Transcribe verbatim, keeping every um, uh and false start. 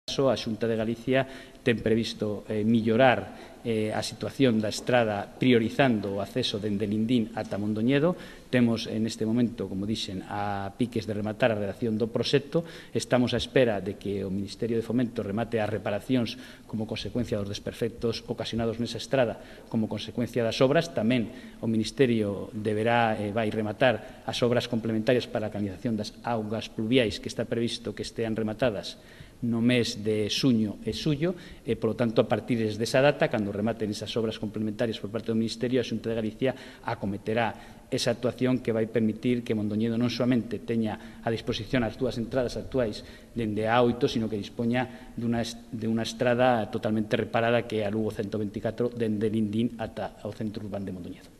A Xunta de Galicia ten previsto eh, millorar eh, a situación da estrada priorizando o acceso dende Lindín ata Mondoñedo. Temos neste momento, como dixen, a piques de rematar a redacción do proxecto. Estamos á espera de que o Ministerio de Fomento remate as reparacións como consecuencia dos desperfectos ocasionados nesa estrada como consecuencia das obras. Tamén o Ministerio deberá, eh, vai rematar as obras complementarias para a canalización das augas pluviais que está previsto que estean rematadas no mes de xuño e xullo, e, polo tanto, a partir desa data, cando rematen esas obras complementarias por parte do Ministerio, a Xunta de Galicia acometerá esa actuación que vai permitir que Mondoñedo non somente teña a disposición as dúas entradas actuais dende a A oito, sino que dispoña dunha, de unha estrada totalmente reparada que é a Lugo ciento veinticatro dende Lindín ata o centro urbano de Mondoñedo.